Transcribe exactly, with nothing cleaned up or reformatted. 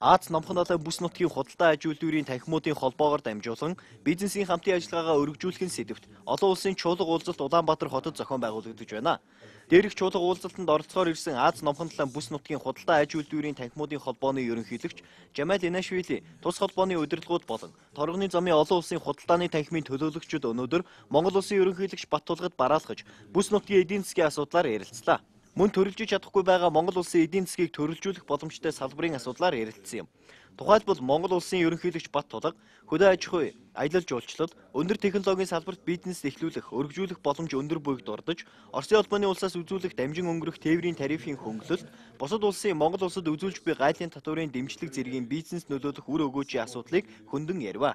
Аз номхон далайн бүс нутгийн худалдаа аж үйлдвэрийн танхимуудын холбоогоор дамжуулан бизнесийн хамтын ажиллагаагаа өргөжүүлэх сэдвт олон улсын чуулга уулзалт Улаанбаатар хотод зохион байгуулагдаж байна. Дээрх чуулга уулзалтанд оролцохоор ирсэн Аз номхон далайн бүс нутгийн худалдаа аж үйлдвэрийн танхимуудын холбооны ерөнхийлөгч Жамал Инашвили тус холбооны удирдлагууд болон торгоны замын олон улсын худалдааны танхимын төлөөлөгчид өнөөдөр Монгол улсын ерөнхийлөгч Баттулгад бараалхаж бүс нутгийн эдийн засгийн асуудлаар ярилцлаа. Мөн төрөлжиж чадахгүй байгаа Монгол улсын эдийн засгийг төрөлжүүлэх боломжтой салбарын асуудлаар ярилцсан юм. Тухайлбал Монгол улсын ерөнхийлөгч Баттулга хөдөө аж ахуй, аялал жуулчлал, өндөр технологийн салбарт бизнес эхлүүлэх, өргөжүүлэх боломж өндөр буйг дурдж, Оросын улбаны улсаас үзүүлэх дамжин өнгөрөх тээврийн тарифын хөнгөлөлт, бусад улсын Монгол улсад үзүүлж буй гайлын татварын дэмжлэг зэргийн бизнес нөлөөлөх үр өгөөжийн асуудлыг хөндөн ярив.